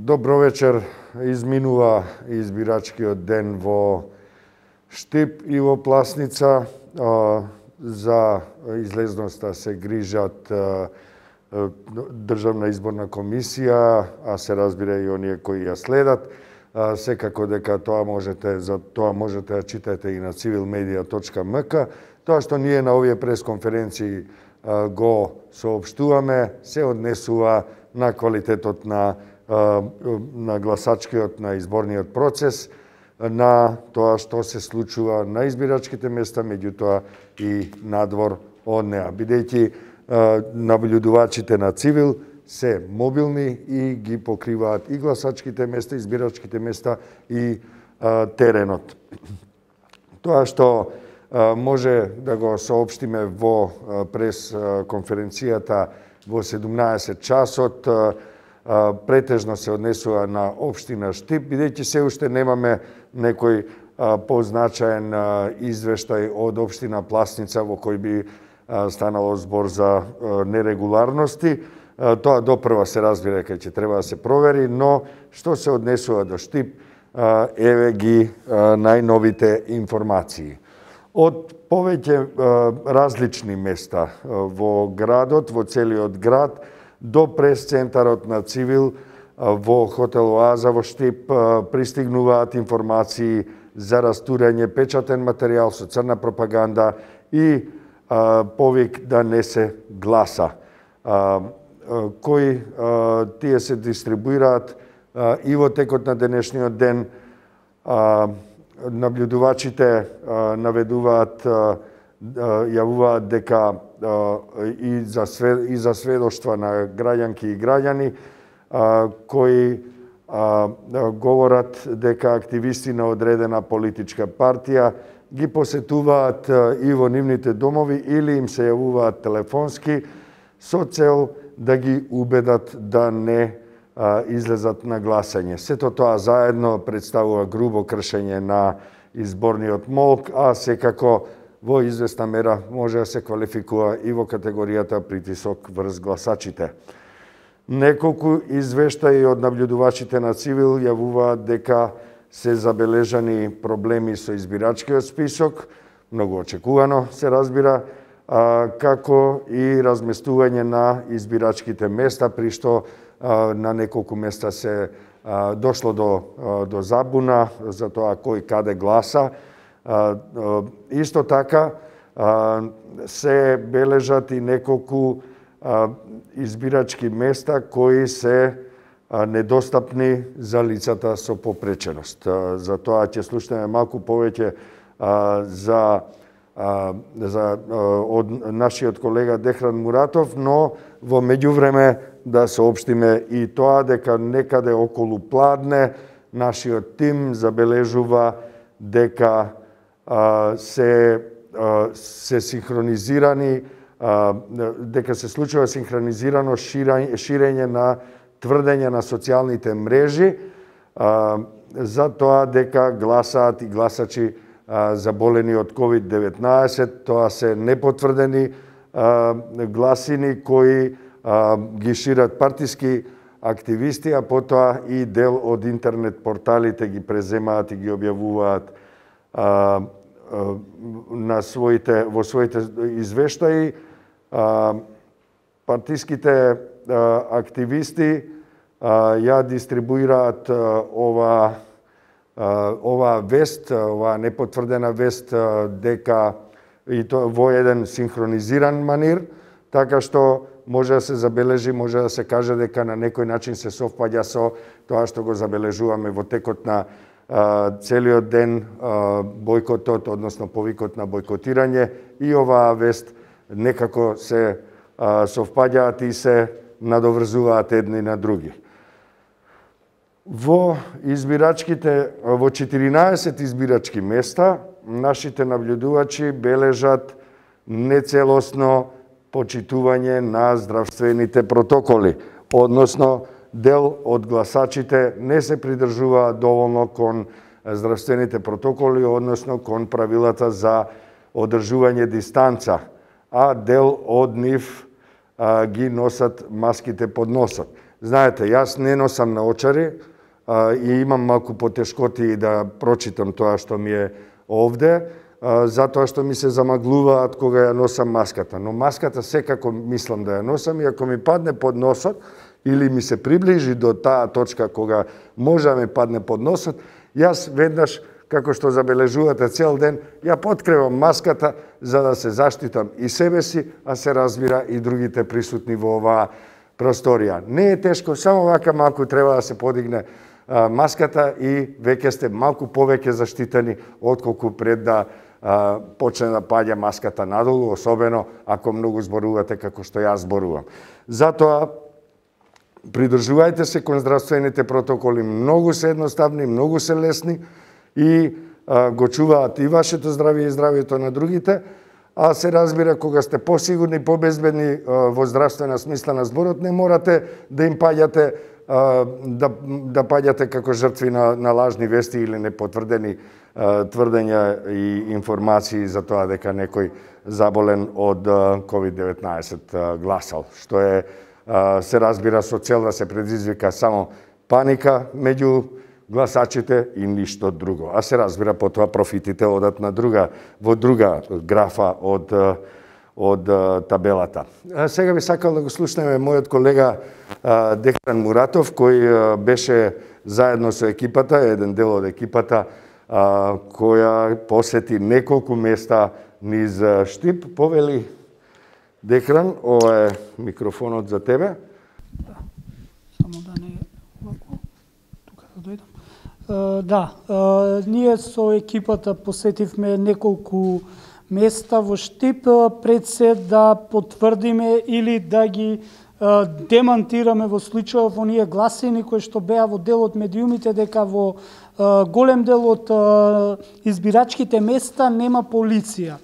Добро вечер. Изминува избирачкиот ден во Штип и во Пласница. За излезноста се грижат Државна изборна комисија, а се разбира и оние кои ја следат. Секако дека за тоа можете да читате и на civilmedia.mk. Тоа што ние на овие пресконференции го соопштуваме се однесува на квалитетот на гласачкиот, на изборниот процес, на тоа што се случува на избирачките места, меѓутоа и надвор од неа. Бидејќи наблюдувачите на Цивил се мобилни и ги покриваат и гласачките места, избирачките места и теренот. Тоа што може да го соопштиме во пресконференцијата во 17 часот, претежно се однесува на општина Штип, бидејќи се уште немаме некој позначаен извештај од општина Пласница во кој би станало збор за нерегуларности. Тоа допрва се разбира дека ќе треба да се провери, но што се однесува до Штип, еве ги најновите информации. Од повеќе различни места во градот, во целиот град, до прес-центарот на Цивил во хотел Оаза во Штип пристигнуваат информации за растурање печатен материјал со црна пропаганда и повик да не се гласа. Кои тие се дистрибуираат и во текот на денешниот ден. Наблюдувачите наведуваат, јавуваат дека и за сведоштва на граѓанки и граѓани кои говорат дека активисти на одредена политичка партија ги посетуваат и во нивните домови или им се јавуваат телефонски со цел да ги убедат да не излезат на гласање. Сето тоа заедно представува грубо кршење на изборниот молк, а секако во известна мера може да се квалификува и во категоријата притисок врз гласачите. Неколку извештаи од наблюдувачите на Цивил јавуваат дека се забележани проблеми со избирачкиот список, многу очекувано се разбира, како и разместување на избирачките места, при што на неколку места се дошло до забуна за тоа кој каде гласа. Исто така се бележат и неколку избирачки места кои се недостапни за лицата со попреченост. За тоа ќе слушнеме малку повеќе од нашиот колега Дехран Муратов, но во меѓувреме да соопштиме и тоа дека некаде околу Пладне нашиот тим забележува дека се синхронизирани, дека се случува синхронизирано ширење на тврдења на социјалните мрежи за тоа дека гласаат и гласачи заболени од COVID-19. Тоа се непотврдени гласини кои ги шират партиски активисти, а потоа и дел од интернет порталите ги преземаат и ги објавуваат во своите извештаи. Партиските активисти ја дистрибуираат оваа вест, оваа непотврдена вест, дека и тоа во еден синхронизиран манир, така што може да се забележи, може да се каже дека на некој начин се совпаѓа со тоа што го забележуваме во текот на целиот ден, бојкотот, односно повикот на бојкотирање, и оваа вест некако се совпаѓаат и се надоврзуваат едни на други. Во 14 избирачки места нашите наблюдувачи бележат нецелосно почитување на здравствените протоколи, односно дел од гласачите не се придржуваат доволно кон здравствените протоколи, односно кон правилата за одржување дистанца, а дел од нив ги носат маските под носот. Знаете, јас не носам наочари и имам малку потешкоти да прочитам тоа што ми е овде, затоа што ми се замаглуваат кога ја носам маската. Но маската секако мислам да ја носам и ако ми падне под носот или ми се приближи до таа точка кога може да ми падне под носот, јас веднаш, како што забележувате цел ден, ја подкревам маската за да се заштитам и себе си, а се разбира и другите присутни во оваа просторија. Не е тешко, само вака малку треба да се подигне маската и веќе сте малку повеќе заштитени отколку пред да почне да паѓа маската надолу, особено ако многу зборувате како што јас зборувам. Затоа придржувајте се кон здравствените протоколи, многу се едноставни, многу се лесни и го чуваат и вашето здравје и здравјето на другите, а се разбира кога сте посигурни, побезбедни во здравствена смисла на зборот, не морате да им паѓате да паѓате како жртви на лажни вести или непотврдени тврдења и информации за тоа дека некој заболен од COVID-19 гласал, што е се разбира со цел да се предизвика само паника меѓу гласачите и ништо друго. А се разбира потоа профитите одат на во друга графа од табелата. Сега би сакал да го слушнеме мојот колега Дехран Муратов, кој беше заедно со екипата, еден дел од екипата, која посети неколку места низ Штип. Повели, Дехран, ова е микрофонот за тебе. Да, само да не овако, тука да дојдам. Ние со екипата посетивме неколку места во Штип, пред се да потврдиме или да ги демантираме во случајов оние гласини кои што беа во дел од медиумите дека во голем дел од избирачките места нема полиција.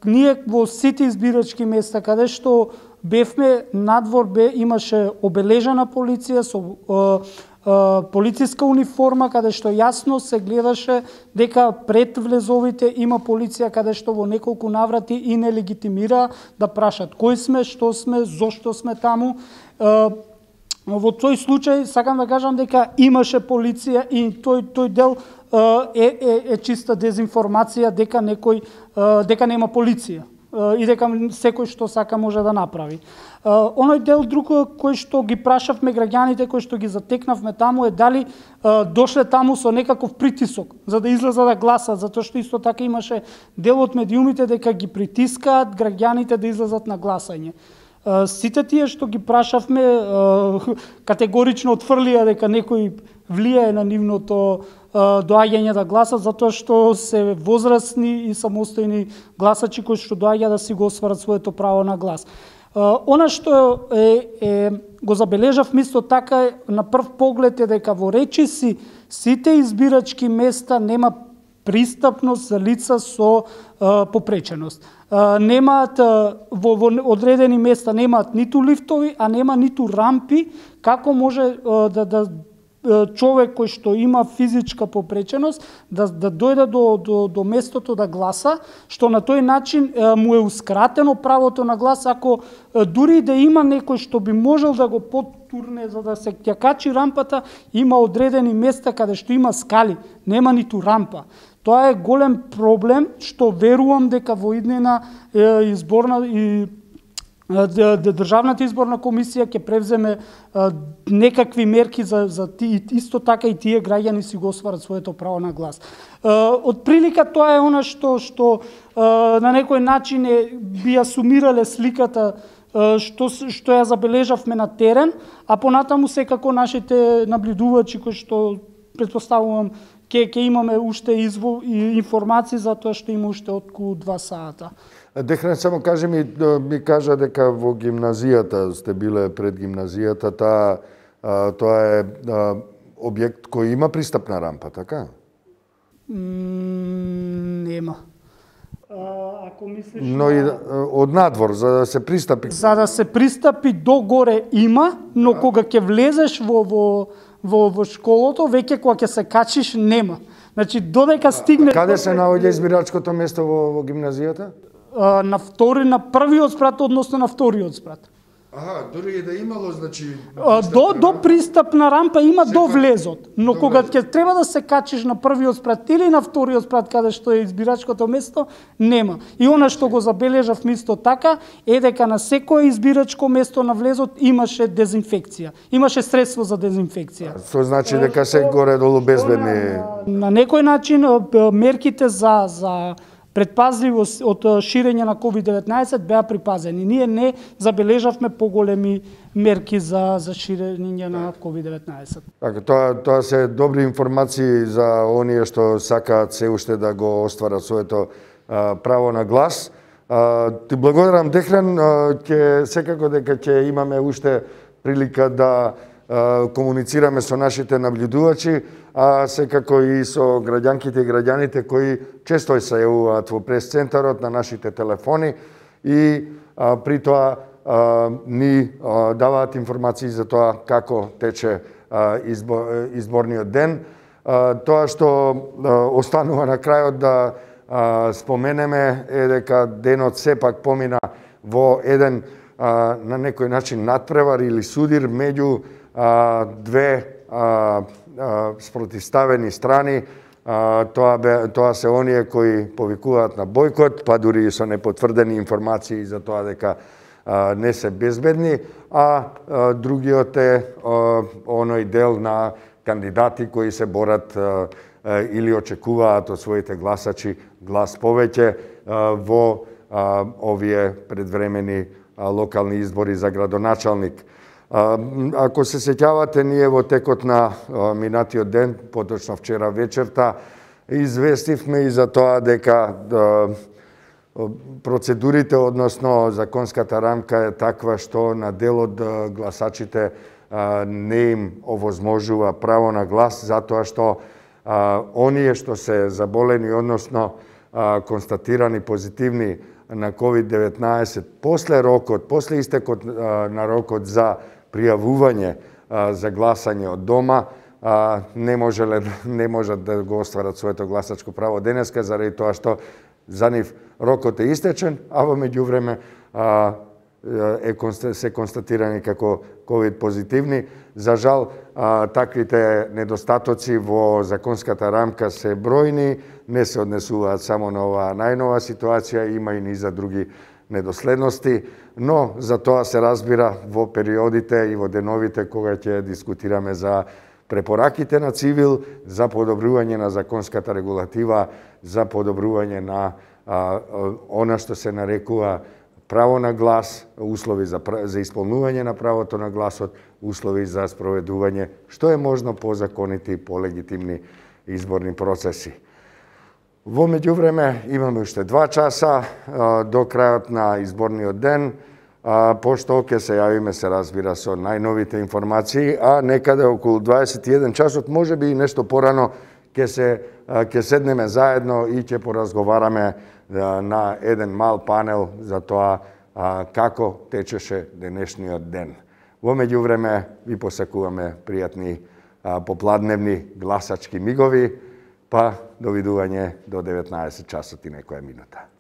Ние во сите избирачки места каде што бевме, надвор имаше обележана полиција со полициска униформа, каде што јасно се гледаше дека пред влезовите има полиција, каде што во неколку наврати и не легитимира да прашат кој сме, што сме, зошто сме таму. Во тој случај сакам да кажам дека имаше полиција и тој дел е чиста дезинформација дека дека нема полиција и дека секој што сака може да направи. Оној дел друг кој што ги прашавме граѓаните, кој што ги затекнавме таму е дали дошле таму со некаков притисок за да излезат да гласат, затоа што исто така имаше дел од медиумите дека ги притискаат граѓаните да излезат на гласање. Сите тие што ги прашавме категорично отфрлија дека некој влијае на нивното доаѓање да гласат, затоа што се возрастни и самостојни гласачи кои што доаѓаат да си го остварат своето право на глас. Она што го забележав исто така на прв поглед е дека во речиси сите избирачки места нема пристапност за лица со попреченост. Немаат во одредени места немаат ниту лифтови, а нема ниту рампи, како може да човек кој што има физичка попреченост да дојде до местото да гласа, што на тој начин му е ускратено правото на глас, ако дури да има некој што би можел да го потурне за да се ја качи рампата, има одредени места каде што има скали, нема ниту рампа. Тоа е голем проблем што верувам дека во иднина изборна и Државната изборна комисија ќе превземе некакви мерки за исто така и тие граѓани си го остварат своето право на глас. Од прилика тоа е она што на некој начин би ја сумирале сликата што ја забележавме на терен, а понатаму секако нашите наблюдувачи кои што претпоставувам ќе имаме уште информации за тоа што има уште околу 2 сата. Дехран, само кажи ми кажа дека во гимназијата сте биле пред гимназијата, тоа е објект кој има пристапна рампа, така? Нема. Ако мислиш но и од надвор за да се пристапи. За да се пристапи до горе има, но кога ќе влезеш во школото, веќе кога ќе се качиш нема. Значи додека стигне. Каде се наоѓа избирачкото место во гимназијата? На првиот спрат, односно на вториот спрат. Дури и да имало, значи... До пристапна рампа има до влезот, но кога ќе треба да се качиш на првиот спрат или на вториот спрат каде што е избирачкото место, нема. И она што го забележав исто така е дека на секое избирачко место на влезот имаше дезинфекција. Имаше средство за дезинфекција. Што значи дека се горе-долу безбедни? На некој начин мерките за предпазливост од ширење на COVID-19 беа припазени. Ние не забележавме поголеми мерки за ширење на COVID-19. Така, тоа се добри информации за оние што сакаат се уште да го остварат своето право на глас. Ти благодарам, Дехран, секако дека ќе имаме уште прилика да комуницираме со нашите наблюдувачи, а секако и со граѓанките и граѓаните кои често се јавуваат во прес-центарот на нашите телефони и при тоа ни даваат информации за тоа како тече изборниот ден. Тоа што останува на крајот да споменеме е дека денот сепак помина во еден на некој начин надпревар или судир меѓу две спротивставени страни. Тоа се оние кои повикуваат на бојкот, па дури и со непотврдени информации за тоа дека не се безбедни, а другиот е оној дел на кандидати кои се борат или очекуваат од своите гласачи глас повеќе во овие предвремени локални избори за градоначалник. Ако се сеќавате, ние во текот на минатиот ден, поточно вчера вечерта, известивме и за тоа дека процедурите, односно законската рамка е таква што на дел од гласачите не им овозможува право на глас, затоа што оние што се заболени, односно констатирани позитивни на COVID-19 после истекот на рокот за пријавување за гласање од дома, не можат да го остварат своето гласачко право денеска, заради тоа што за нив рокот е истечен, а во меѓувреме се констатирани како COVID позитивни. За жал, таквите недостатоци во законската рамка се бројни, не се однесуваат само на оваа најнова ситуација, има и низа други недоследности, но за тоа се разбира во периодите и во деновите кога ќе дискутираме за препораките на Цивил, за подобрување на законската регулатива, за подобрување на она што се нарекува право на глас, услови за исполнување на правото на гласот, услови за спроведување што е можно по законити и по легитимни изборни процеси. Во меѓувреме имаме уште 2 часа до крајот на изборниот ден, пошто ќе се јавиме, се разбира, со најновите информации, а некаде околу 21 часот, можеби и нешто порано, ќе седнеме заедно и ќе поразговараме на еден мал панел за тоа како течеше денешниот ден. Во меѓувреме ви посакуваме пријатни попладневни гласачки мигови, па довидување до 19 часот и некоја минута.